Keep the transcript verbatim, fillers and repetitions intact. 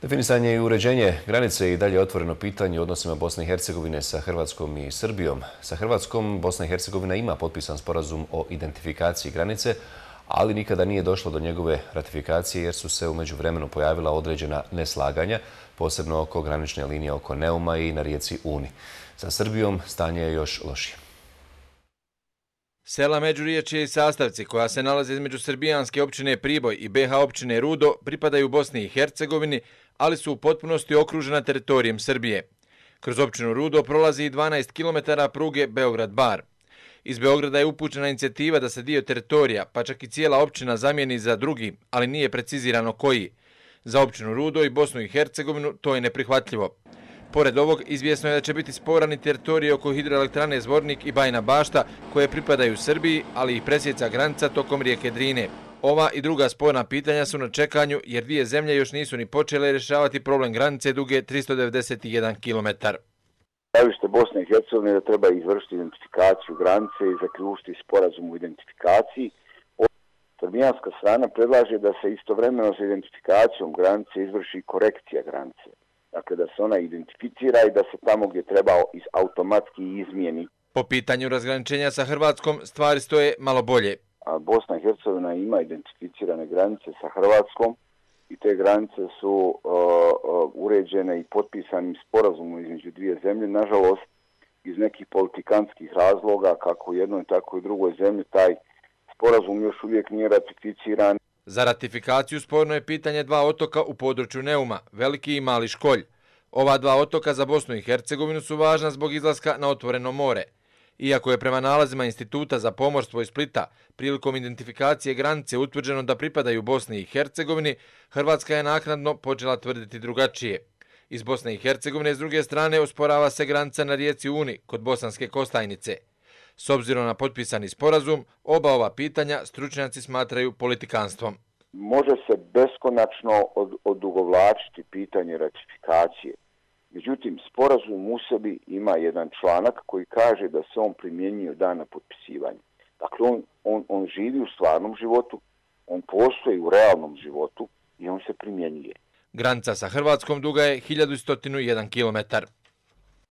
Definisanje i uređenje granice je i dalje otvoreno pitanje u odnosima Bosne i Hercegovine sa Hrvatskom i Srbijom. Sa Hrvatskom Bosna i Hercegovina ima potpisan sporazum o identifikaciji granice, ali nikada nije došlo do njegove ratifikacije jer su se u međuvremenu pojavila određena neslaganja, posebno oko granične linije oko Neuma i na rijeci Uni. Sa Srbijom stanje je još lošije. Sela Međuriječje i Sastavci, koja se nalaze između srbijanske općine Priboj i be ha općine Rudo, pripadaju Bosni i Hercegovini, ali su u potpunosti okružena teritorijem Srbije. Kroz općinu Rudo prolazi i dvanaest kilometara pruge Beograd-Bar. Iz Beograda je upućena inicijativa da se dio teritorija, pa čak i cijela općina, zamijeni za drugi, ali nije precizirano koji. Za općinu Rudo i Bosnu i Hercegovinu to je neprihvatljivo. Pored ovog, izvjesno je da će biti sporan i teritorij oko hidroelektrane Zvornik i Bajina Bašta, koje pripadaju Srbiji, ali i presjeca granica tokom rijeke Drine. Ova i druga sporna pitanja su na čekanju jer dvije zemlje još nisu ni počele rješavati problem granice duge tristo devedeset jedan kilometar. Stajalište Bosne i Hercegovine da treba izvršiti identifikaciju granice i zaključiti sporazum o identifikaciji. Srbijanska strana predlaže da se istovremeno sa identifikacijom granice izvrši korekcija granice. Dakle, da se ona identificira i da se tamo gdje treba automatski izmijeni. Po pitanju razgraničenja sa Hrvatskom stvari stoje malo bolje. A Bosna i Hercegovina ima identificirane granice sa Hrvatskom i te granice su uh, uh, uređene i potpisanim sporazumom između dvije zemlje. Nažalost, iz nekih politikantskih razloga, kako u jednoj tako i u drugoj zemlji, taj sporazum još uvijek nije ratificiran. Za ratifikaciju sporno je pitanje dva otoka u području Neuma, Veliki i Mali Školj. Ova dva otoka za Bosnu i Hercegovinu su važna zbog izlaska na otvoreno more. Iako je prema nalazima Instituta za pomorstvo iz Splita prilikom identifikacije granice utvrđeno da pripadaju Bosni i Hercegovini, Hrvatska je naknadno počela tvrditi drugačije. Iz Bosne i Hercegovine s druge strane osporava se granica na rijeci Uni kod Bosanske Kostajnice. S obzirom na potpisani sporazum, oba ova pitanja stručnjaci smatraju politikanstvom. Može se beskonačno od, odugovlačiti pitanje ratifikacije. Međutim, sporazum u sebi ima jedan članak koji kaže da se on primjenjuje od dana potpisivanja. Dakle, on, on, on živi u stvarnom životu, on postoji u realnom životu i on se primjenjuje. Granica sa Hrvatskom duga je hiljadu sto jedan kilometar.